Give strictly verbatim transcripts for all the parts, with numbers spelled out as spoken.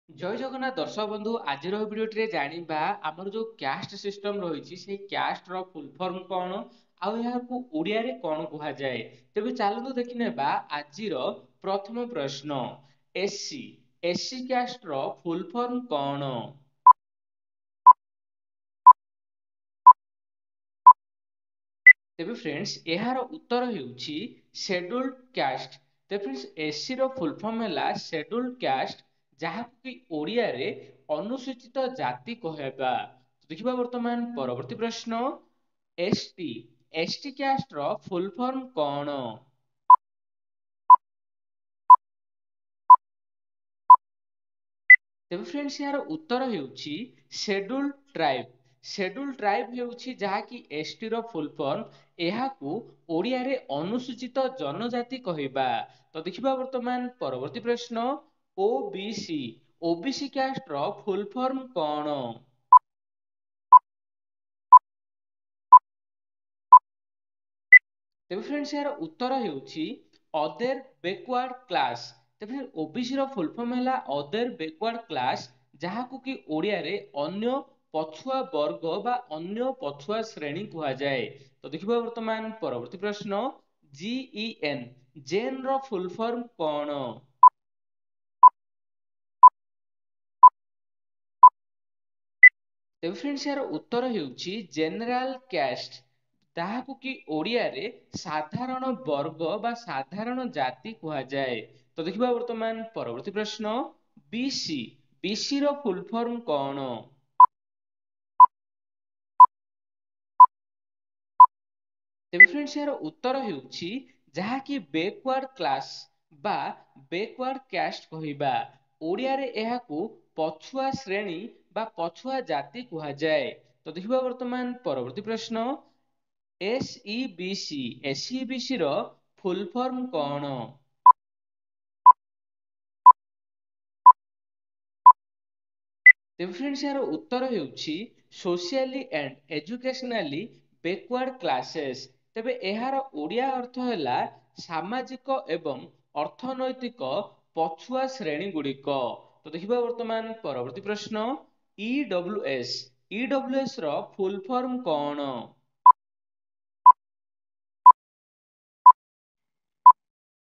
ଜୟ ଜଗନ୍ନାଥ ଦର୍ଶକ ବନ୍ଧୁ, ଆଜିର ଭିଡ଼ିଓଟିରେ ଜାଣିବା ଆମର ଯେଉଁ କ୍ୟାଷ୍ଟ ସିଷ୍ଟମ ରହିଛି, ସେଇ କ୍ୟାଷ୍ଟର ଫୁଲ୍ ଫର୍ମ କ'ଣ ଆଉ ଏହାକୁ ଓଡ଼ିଆରେ କ'ଣ କୁହାଯାଏ। ତେବେ ଚାଲନ୍ତୁ ଦେଖିନେବା ଆଜିର ପ୍ରଥମ ପ୍ରଶ୍ନ। SC, SC castor full form କ'ଣ? ତେବେ ଫ୍ରେଣ୍ଡସ୍, ଏହାର ଉତ୍ତର ହେଉଛି ସେଡ୍ୟୁଲ୍ଡ କ୍ୟାଷ୍ଟ। ତେବେ ଫ୍ରେଣ୍ଡସ୍, ଏସ୍ସିର ଫୁଲ୍ ଫର୍ମ ହେଲା ସେଡ୍ୟୁଲ୍ଡ କ୍ୟାଷ୍ଟ, ଯାହାକୁ କି ଓଡ଼ିଆରେ ଅନୁସୂଚିତ ଜାତି କହିବା। ଦେଖିବା ବର୍ତ୍ତମାନ ପରବର୍ତ୍ତୀ ପ୍ରଶ୍ନ। ST, ST castor full form କ'ଣ? ତେବେ ଫ୍ରେଣ୍ଡସ୍, ଏହାର ଉତ୍ତର ହେଉଛି ସେଡ୍ୟୁଲ୍ଡ ଟ୍ରାଇବ୍। ସେଡ୍ୟୁଲ୍ଡ ଟ୍ରାଇବ୍ ହେଉଛି ଯାହାକି ଏସ୍ଟିର ଫୁଲ୍ ଫର୍ମ, ଏହାକୁ ଓଡ଼ିଆରେ ଅନୁସୂଚିତ ଜନଜାତି କହିବା। ତ ଦେଖିବା ବର୍ତ୍ତମାନ ପରବର୍ତ୍ତୀ ପ୍ରଶ୍ନ। OBC, OBC castor full form କ'ଣ? ତେବେ ଫ୍ରେଣ୍ଡସ୍, ଏହାର ଉତ୍ତର ହେଉଛି ଅଦର ବେକୱାର୍ଡ କ୍ଲାସ୍। ତେବେ ଓବିସିର ଫୁଲ୍ ଫର୍ମ ହେଲା ଅଦର ବେକୱାର୍ଡ କ୍ଲାସ୍, ଯାହାକୁ କି ଓଡ଼ିଆରେ ଅନ୍ୟ ପଛୁଆ ବର୍ଗ ବା ଅନ୍ୟ ପଛୁଆ ଶ୍ରେଣୀ କୁହାଯାଏ। ତ ଦେଖିବା ବର୍ତ୍ତମାନ ପରବର୍ତ୍ତୀ ପ୍ରଶ୍ନ। ଜିଇଏନ୍, ଜେନ୍ର ଫୁଲ୍ ଫର୍ମ କ'ଣ? ତେବେ ଫ୍ରେଣ୍ଡସ୍, ଏହାର ଉତ୍ତର ହେଉଛି ଜେନେରାଲ କ୍ୟାଷ୍ଟ, ତାହାକୁ କି ଓଡ଼ିଆରେ ସାଧାରଣ ବର୍ଗ ବା ସାଧାରଣ ଜାତି କୁହାଯାଏ। ତ ଦେଖିବା ବର୍ତ୍ତମାନ ପରବର୍ତ୍ତୀ ପ୍ରଶ୍ନ। ବିସି, ବିସିର ଫୁଲ୍ ଫର୍ମ କ'ଣ? ତେବେ ଫ୍ରେଣ୍ଡସ୍, ଏହାର ଉତ୍ତର ହେଉଛି ଯାହାକି ବେକୱାର୍ଡ କ୍ଲାସ ବା ବେକୱାର୍ଡ କ୍ୟାଷ୍ଟ କହିବା, ଓଡ଼ିଆରେ ଏହାକୁ ପଛୁଆ ଶ୍ରେଣୀ ବା ପଛୁଆ ଜାତି କୁହାଯାଏ। ତ ଦେଖିବା ବର୍ତ୍ତମାନ ପରବର୍ତ୍ତୀ ପ୍ରଶ୍ନ। ଏସ୍ଇବିସି, ଏସ୍ଇବିସିର ଫୁଲ୍ ଫର୍ମ କ'ଣ? ତେବେ ଫ୍ରେଣ୍ଡସ୍, ଏହାର ଉତ୍ତର ହେଉଛି socially and educationally backward classes. ତେବେ ଏହାର ଓଡ଼ିଆ ଅର୍ଥ ହେଲା ସାମାଜିକ ଏବଂ ଅର୍ଥନୈତିକ ପଛୁଆ ଶ୍ରେଣୀ ଗୁଡ଼ିକ। ତ ଦେଖିବା ବର୍ତ୍ତମାନ ପରବର୍ତ୍ତୀ ପ୍ରଶ୍ନ। ଇଡବ୍ଲ୍ୟୁଏସ୍, ଇଡବ୍ଲ୍ୟୁଏସ୍ ର ଫୁଲ୍ ଫର୍ମ କ'ଣ?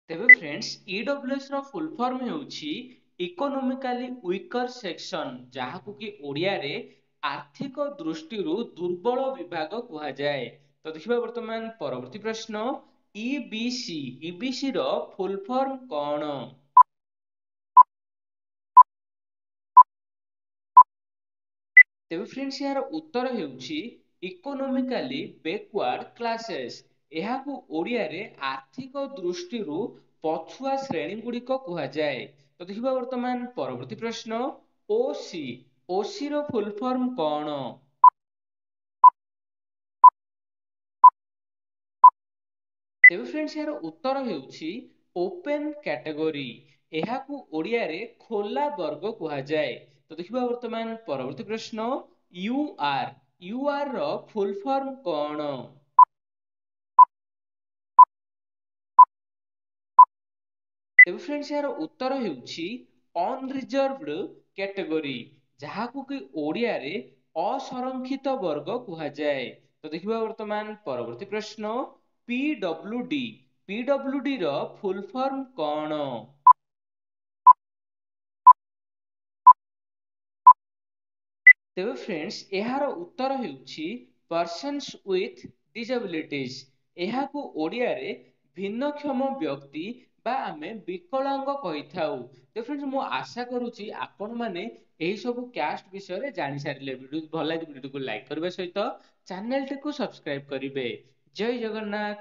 ତେବେ ଫ୍ରେଣ୍ଡସ୍, ଇଡବ୍ଲ୍ୟୁଏସ୍ ର ଫୁଲ୍ ଫର୍ମ ହେଉଛି ଇକୋନୋମିକାଲି ୱିକର ସେକ୍ସନ, ଯାହାକୁ କି ଓଡ଼ିଆରେ ଆର୍ଥିକ ଦୃଷ୍ଟିରୁ ଦୁର୍ବଳ ବିଭାଗ କୁହାଯାଏ। ତ ଦେଖିବା ବର୍ତ୍ତମାନ ପରବର୍ତ୍ତୀ ପ୍ରଶ୍ନ। ଇବିସି, ଇବିସି ର ଫୁଲ୍ ଫର୍ମ କ'ଣ? ତେବେ ଫ୍ରେଣ୍ଡସ୍, ଏହାର ଉତ୍ତର ହେଉଛି ଇକୋନୋମିକାଲି ବେକୱାର୍ଡ କ୍ଲାସେସ୍, ଏହାକୁ ଓଡ଼ିଆରେ ଆର୍ଥିକ ଦୃଷ୍ଟିରୁ ପଛୁଆ ଶ୍ରେଣୀ ଗୁଡ଼ିକ କୁହାଯାଏ। ତ ଦେଖିବା ବର୍ତ୍ତମାନ ପରବର୍ତ୍ତୀ ପ୍ରଶ୍ନ। ଓସି, ଓସି ର ଫୁଲ୍ ଫର୍ମ କ'ଣ? ତେବେ ଫ୍ରେଣ୍ଡସ୍, ଏହାର ଉତ୍ତର ହେଉଛି ଓପେନ୍ କ୍ୟାଟେଗୋରୀ, ଏହାକୁ ଓଡ଼ିଆରେ ଖୋଲା ବର୍ଗ କୁହାଯାଏ। ତ ଦେଖିବା ବର୍ତ୍ତମାନ ପରବର୍ତ୍ତୀ ପ୍ରଶ୍ନ। You are, you ଆର୍ ର ଫୁଲ୍ ଫର୍ମ କ'ଣ? ତେବେ ଫ୍ରେଣ୍ଡସ୍, ଏହାର ଉତ୍ତର ହେଉଛି ଅନରିଜର୍ଭଡ କ୍ୟାଟେଗୋରୀ, ଯାହାକୁ କି ଓଡ଼ିଆରେ ଅସଂରକ୍ଷିତ ବର୍ଗ କୁହାଯାଏ। ତ ଦେଖିବା ବର୍ତ୍ତମାନ ପରବର୍ତ୍ତୀ ପ୍ରଶ୍ନ। ପିଡବ୍ଲ୍ୟୁଡି, ପିଡବ୍ଲ୍ୟୁଡି ର ଫୁଲ୍ ଫର୍ମ କ'ଣ? ତେବେ ଫ୍ରେଣ୍ଡସ୍, ଏହାର ଉତ୍ତର ହେଉଛି ପର୍ସନ୍ସ ୱିଥ୍ ଡିସେବିଲିଟିଜ୍, ଏହାକୁ ଓଡ଼ିଆରେ ଭିନ୍ନକ୍ଷମ ବ୍ୟକ୍ତି ବା ଆମେ ବିକଳାଙ୍ଗ କହିଥାଉ। ତ ଫ୍ରେଣ୍ଡସ୍, ମୁଁ ଆଶା କରୁଛି ଆପଣମାନେ ଏହି ସବୁ କ୍ୟାଷ୍ଟ ବିଷୟରେ ଜାଣିସାରିଲେ। ଭିଡ଼ିଓ ଭଲ ଲାଗେ, ଭିଡ଼ିଓଟିକୁ ଲାଇକ୍ କରିବା ସହିତ ଚ୍ୟାନେଲଟିକୁ ସବସ୍କ୍ରାଇବ କରିବେ। ଜୟ ଜଗନ୍ନାଥ।